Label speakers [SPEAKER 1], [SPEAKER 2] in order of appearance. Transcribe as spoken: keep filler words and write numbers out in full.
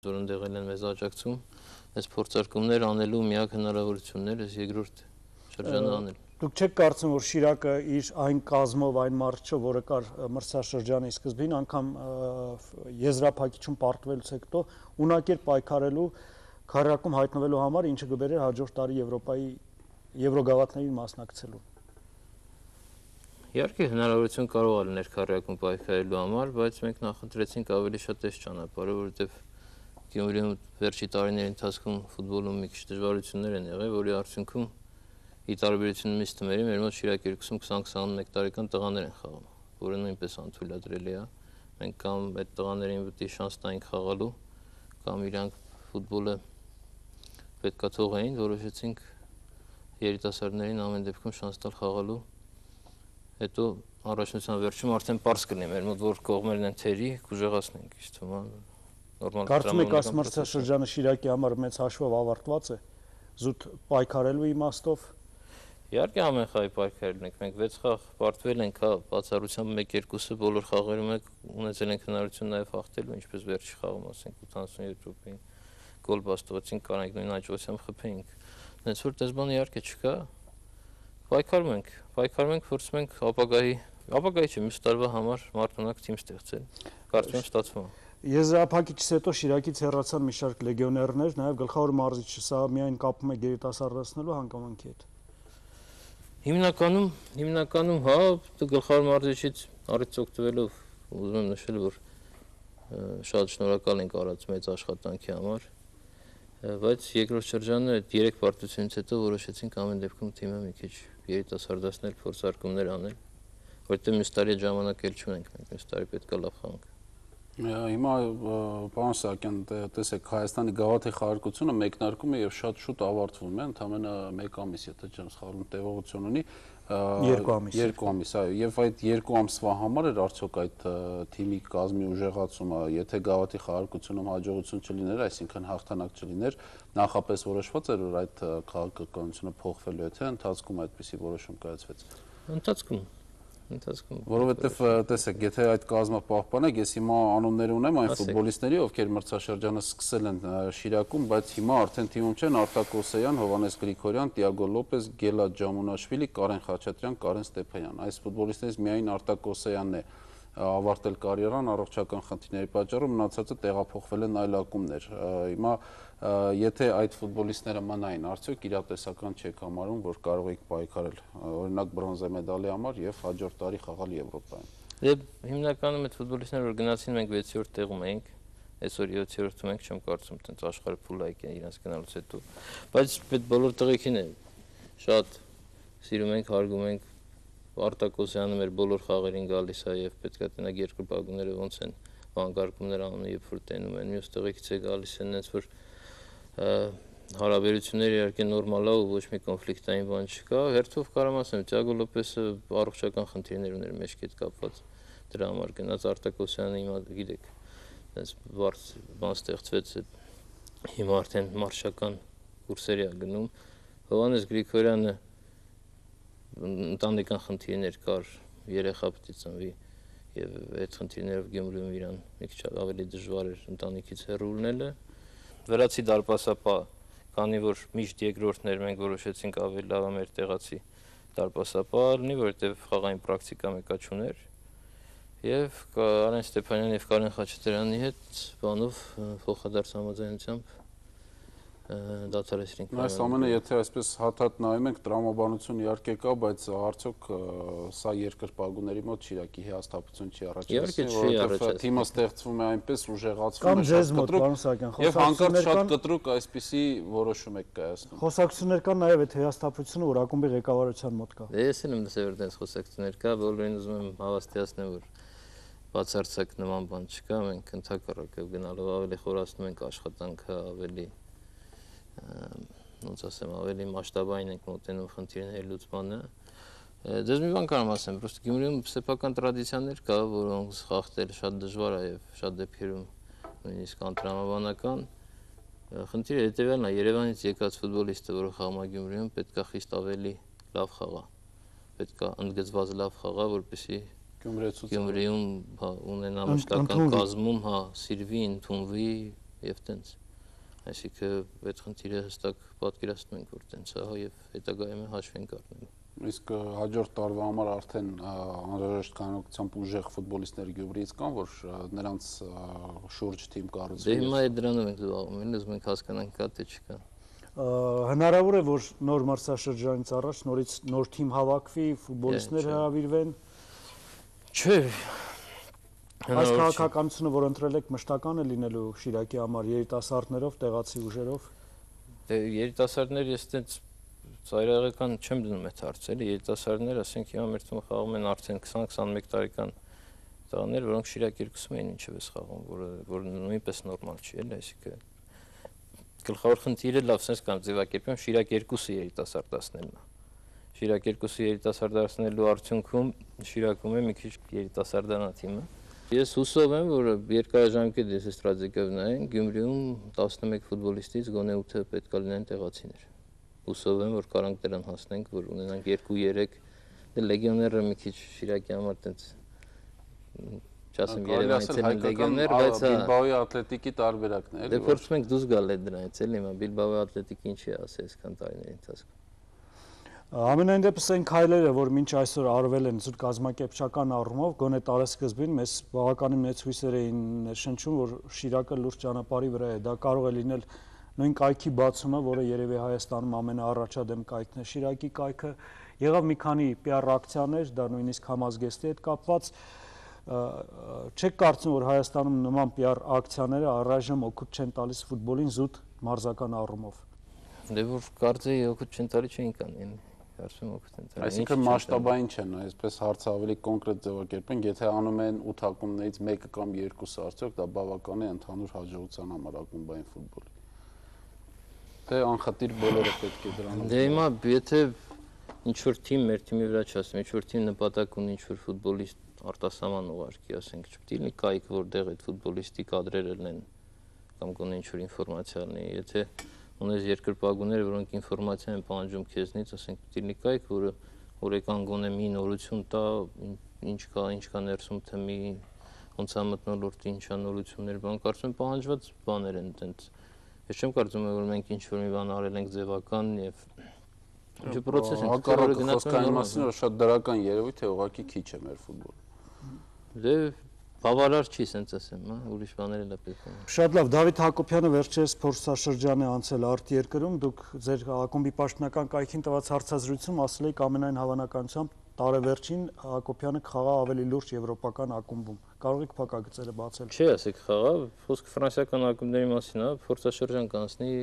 [SPEAKER 1] որոնք եղել են մեզ աջակցում, այս փորձարկումներ անելու միակ հնարավորությունն է երկրորդ շրջանը անել։
[SPEAKER 2] Դուք չեք կարծում, որ Շիրակը իր այն կազմով, այն մարզչով, որը կար մրցաշրջանի սկզբին, անգամ եզրափակիչում պարտվելուց հետո ունակեր պայքարելու, քառակում հայտնվելու համար, ինչը կբերեր հաջորդ տարի Եվրոպայի Եվրոգավաթներին մասնակցելու։
[SPEAKER 1] Իհարկե հնարավորություն կարող է լինել քառակում պայքարելու համար, բայց մենք նախընտրեցինք ավելի շատ այս ճանապարհը, որովհետև Գյումրիում վերջի տարիների ընթացքում ֆուտբոլում մի քիչ դժվարություններ են եղել, որի արդյունքում ի տարբերություն մյուս թիմերի մեր մոտ Շիրակ երկուսում քսան-քսանմեկ տարեկան տղաներ են խաղում, որը նույնպես անթույլատրելի է։ Մենք կամ այդ տղաներին պետք է շանս տանք խաղալու, կամ իրանք ֆուտբոլը պետքա թողեին, որոշեցինք երիտասարդներին ամեն դեպքում շանս տալ խաղալու։ Հետո առաջնության վերջում արդեն պարզ կլինի մեր մոտ որ կողմերն են թերի, կուժեղացնենք, իշտ թվում է նորմալ։
[SPEAKER 2] Կարծում եք այս մրցաշրջանը Շիրակի համար մեծ հաշվով ավարտված է, զուտ պայքարելու իմաստով։
[SPEAKER 1] Իհարկե ամեն խաղի պայքարել ենք, մենք վեց խաղ պարտվել ենք, հա, բացառությամբ մեկ-երկուսը բոլոր խաղերում ենք ունեցել ենք հնարավորություն նաև հաղթելու, ինչպես վերջի խաղում, ասենք ութանասունյոթ րոպեին գոլ բաստողեցինք, կարանք նույն հաջողությամբ խփեինք։ Հենց որ դες բան իհարկե չկա, պայքարում ենք, պայքարում ենք, փորձում ենք ապագայի, ապագայի չէ, մյուս տարվա համար մարտունակ թիմ ստեղծել, կարծում եմ ստացվում է։
[SPEAKER 2] Եզրափակիչից հետո Շիրակից հեռացան մի շարք լեգիոներներ, նաև գլխավոր մարզիչը, սա միայն կապում է գերիտասարդացնելու հանգամանքի հետ։
[SPEAKER 1] Հիմնականում, հիմնականում, հա, գլխավոր մարզիչից առիթ օգտվելով ուզում եմ նշել, որ շատ շնորհակալ ենք արած մեծ աշխատանքի համար, բայց երկրորդ շրջանը այդ երեք պարտությունից հետո որոշեցինք ամեն դեպքում թիմը մի քիչ երիտասարդացնել, փորձարկումներ անել, որտեղ մյուս տարի ժամանակ էլ չունենք, մենք մյուս տարի պետք է լավ խաղանք։
[SPEAKER 3] Հիմա պարոն Սահակյան, տեսեք, Հայաստանի գավաթի խաղարկությունը մեկնարկում է եւ շատ շուտ ավարտվում է, ընդամենը մեկ ամիս, եթե չեմ սխալվում, տևողություն ունի։
[SPEAKER 2] Երկու ամիս։
[SPEAKER 3] Երկու ամիս, այո, եւ այդ երկու ամսվա համար էր արդյոք այդ թիմի կազմի ուժեղացումը, եթե գավաթի խաղարկությունում հաջողություն չլիներ, այսինքն հաղթանակ չլիներ, նախապես որոշված էր որ այդ քաղաքականությունը փոխվելու է, թե ընթացքում այդպիսի որոշում կայացվեց։
[SPEAKER 1] Ընթացքում Ընթացքում
[SPEAKER 3] Որովհետև տեսեք, եթե այդ կազմը պահպանեք, ես հիմա անուններ ունեմ այն ֆուտբոլիստների, ովքեր մրցաշրջանը սկսել են Շիրակում, բայց հիմա արդեն թիմում չեն Արտակ Օսեյան, Հովհաննես Գրիգորյան, Տիագո Լոպեզ, Գելա Ջամունաշվիլի, Կարեն Խաչատրյան, Կարեն Ստեփանյան։ Այս ֆուտբոլիստներից միայն Արտակ Օսեյանն է ավարտել կարիերան առողջական խնդիրների պատճառով, մնացածը տեղափոխվել են այլ ակումբներ։ Հիմա եթե այդ ֆուտբոլիստները մնային, արդյոք իրատեսական չեք համարում, որ կարող եք պայքարել, օրինակ բրոնզե մեդալի համար եւ հաջորդ տարի խաղալ Եվրոպայում։
[SPEAKER 1] Եվ հիմնականում այդ ֆուտբոլիստները որ գնացին, մենք վեցերորդ տեղում էինք, այսօր յոթերորդում ենք, չեմ կարծում, տենց աշխարհը փուլայք է իրենց գնալուց հետո։ Բայց այդ բոլոր տղեկին է շատ սիրում ենք, հարգում ենք։ Արտակ Օսյանը մեր բոլոր խաղերին գալիս է եւ պետք է տնակ երկու բագուները ոնց են վանկարկումներ անում երբ որ տենում են, մյուս տղեկից է գալիս են, այնց որ հարաբերությունները իհարկե նորմալ է ու ոչ մի կոնֆլիկտային բան չկա։ Հերթով կարամ ասեմ, Տիագո Լոպեսը առողջական խնդիրներ ուներ մեջքի հետ կապված, դրա համար գնաց Արտակ Օսյանը հիմա գիտեք, այնց բարձ բան ստեղծվեց, հիմա արդեն մարշական կուրսերի է գնում։ Հովհաննես Գրիգորյանը ընտանեկան խնդիրներ կար, երեխա պետք է ծնվի եւ այդ խնդիրներով Գյումրիում իրան մի քիչ ավելի դժվար էր ընտանիքից հեռու լինելը։ Վրացի դարպասապա, քանի որ միշտ երկրորդներ մենք որոշեցինք ավելի լավ է մեր տեղացի դարպասապա լինի, որովհետեւ խաղային պրակտիկա մեկա չուներ։ Եվ Կարեն Ստեփանյանի եւ Կարեն Խաչատրյանի հետ բանով փոխադարձ համաձայնությամբ դադարեցրինք։
[SPEAKER 3] Այս ամենը եթե այսպես հատ-հատ նայում ենք, տրամաբանություն իհարկե կա, բայց արդյոք սա երկրպագուների մոտ Շիրակի հիասթափություն չի առաջացնում, որովհետև թիմը ստեղծվում է այնպես ուժեղացվում է, շատ կտրուկ եւ հանկարծ շատ կտրուկ այսպիսի որոշում եք կայացնում։
[SPEAKER 2] Խոսակցություններ կան նաեւ այդ հիասթափությունը, որ ակումբի ղեկավարության մոտ կա։
[SPEAKER 1] Ես էլ եմ դասել որ դες խոսակցություններ կա, բոլորին ուզում եմ հավաստիացնել, որ բացարձակ նման բան չկա, մենք ընդհակառակը գնալով ավելի խորացնում ենք աշխատանքը, ավելի ոնց ասեմ, ավելի մասշտաբային ենք մոտենում խնդիրների լուծմանը։ Դες մի բան կարամ ասեմ, պրոստը Գյումրիում սեփական տրադիցիաներ կա, որոնց խախտել շատ դժվար է եւ շատ դեպքերում նույնիսկ անտրամաբանական։ Խնդիրը հետեւյալն է, Երևանից եկած ֆուտբոլիստը, որը խաղում է Գյումրիում, պետք է խիստ ավելի լավ խաղա։ Պետք է ընդգծված լավ խաղա, որպեսզի Գյումրիում ունենա մշտական կազմում, հա, սիրվի, ընդունվի, եւ տենց։ Այսինքն այդ խնդիրը հստակ պատկերացնում ենք, որ տենց է եւ հետագայում հաշվենք առնելու։
[SPEAKER 3] Իսկ հաջորդ տարվա համար արդեն անհրաժեշտ քանակությամբ ուժեղ ֆուտբոլիստներ Գյումրիից կան, որ նրանց շուրջ թիմ կառուցվի։
[SPEAKER 1] Դե հիմա այդ դրանով ենք զբաղվում, ուզում ենք հասկանանք կա թե չկա։
[SPEAKER 2] Հնարավոր է, որ նոր մարզաշրջանից առաջ նորից նոր թիմ հավաքվի, ֆուտբոլիստներ հրավիրվեն։
[SPEAKER 1] Չէ։
[SPEAKER 2] Այս քաղաքականությունը, որ ընտրել եք, մշտական է լինելու Շիրակի համար երիտասարդներով, տեղացի ուժերով։
[SPEAKER 1] Դե երիտասարդներ ես տենց ծայրահեղական չեմ դնում այդ հարցը, էլի երիտասարդներ, ասենք հիմա մեր թիմը խաղում են արդեն քսան-քսանմեկ տարեկան տղաներ, որոնք Շիրակ երկուսում էին ինչևէ խաղում, որը որ նույնպես նորմալ չի, էլի, այսինքն գլխավոր խնդիրը լավ sense կամ ձևակերպեմ Շիրակ երկուսը երիտասարդացնելն է։ Շիրակ երկուսը երիտասարդացնելու արդյունքում Շիրակում է մի քիչ երիտասարդանա թիմը։ Ես հուսով եմ, որ երկարաժամկետ ես ստրատեգիայով նայեն Գյումրիում տասնմեկ ֆուտբոլիստից գոնե ութը պետք է լինեն տեղացիներ։ Հուսով եմ, որ կարանք դրան հասնենք, որ ունենանք երկու-երեք դե լեգիոները մի քիչ Շիրակի համար տենց չասեմ Երևանից են լեգիոներ, բայց
[SPEAKER 3] Բիլբաոյի Ատլետիկի տարբերակն է, էլի։
[SPEAKER 1] Դե փորձում ենք դուրս գալ այդ դրանից, էլի, հիմա Բիլբաոյի Ատլետիկը ինչի է ասել այսքան տարիների ընթացքում։
[SPEAKER 2] Ամենայն դեպս այն քայլերը, որ մինչ այսօր արվել են զուտ կազմակերպչական առումով, գոնե տարեսկզբին մեզ բավականին մեծ հույսեր էին ներշնչում, որ Շիրակը լուրջ ճանապարհի վրա է։ Դա կարող է լինել նույն կայքի բացումը, որը երևի Հայաստանում ամենաառաջադեմ կայքն է, Շիրակի կայքը, եղավ մի քանի պի ար ակցիաներ, դա նույնիսկ Համազգեստի հետ կապված, չեք կարծում, որ Հայաստանում նման պի ար ակցիաները առայժմ օգուտ չեն տալիս ֆուտբոլին զուտ մարզական առումով։
[SPEAKER 1] Դե որ կարծեի օգուտ չեն տալի չէին կանեն, կարծում օգուտ են տալի։
[SPEAKER 3] Այսինքն մասշտաբային չեն, այսպես հարցը ավելի կոնկրետ ձևակերպենք, եթե անում են ութ ակումբներից մեկը կամ երկուսը, արդյոք դա բավական է ընդհանուր հաջողության համար ակումբային ֆուտբոլի։ Թե անխտիր բոլորը պետք է դրանով։
[SPEAKER 1] Դե հիմա եթե ինչ-որ թիմ մեր թիմի վրա չասեմ, ինչ-որ թիմ նպատակ ունի ինչ-որ ֆուտբոլիստ արտասահման ուղարկի, ասենք, չպետք է լինի կայք, որտեղ այդ ֆուտբոլիստի կադրերը լինեն կամ գոնե ինչ-որ ինֆորմացիա լինի, եթե ունես երկրպագուներ, որոնք ինֆորմացիա են պահանջում քեզնից, ասենք, պետք է լինի կայք, որը օրեկան գոնե մի նորություն տա, ինչ կա, ինչ կա ներսում թեմի, ոնց է մթնոլորտի, ինչ է նորություններ, բան կարծում եմ պահանջված բաներ են այդպես։ Ես չեմ կարծում, որ մենք ինչ-որ մի բան արել ենք ձևական եւ ինչ պրոցես ենք,
[SPEAKER 3] որը գնացքային մասին որ շատ դրական երևույթ է, ուղղակի քիչ է մեր ֆուտբոլը։
[SPEAKER 1] Դե բավարար չի, ասենց ասեմ, հա, ուրիշ բաներ էլ է պետք է։
[SPEAKER 2] Շատ լավ, Դավիթ Հակոբյանը վերջերս փորձաշրջան է անցել արտերկրում, դուք ձեր ակումբի պաշտոնական կայքին տված հարցազրույցում ասել եք ամենայն հավանականությամբ տարեվերջին Հակոբյանը կխաղա ավելի լուրջ եվրոպական ակումբում։ Կարող եք փակագծերը բացել։
[SPEAKER 1] Չի, ասեք խաղա, խոսքը ֆրանսիական ակումբների մասին է, փորձաշրջան կանցնի,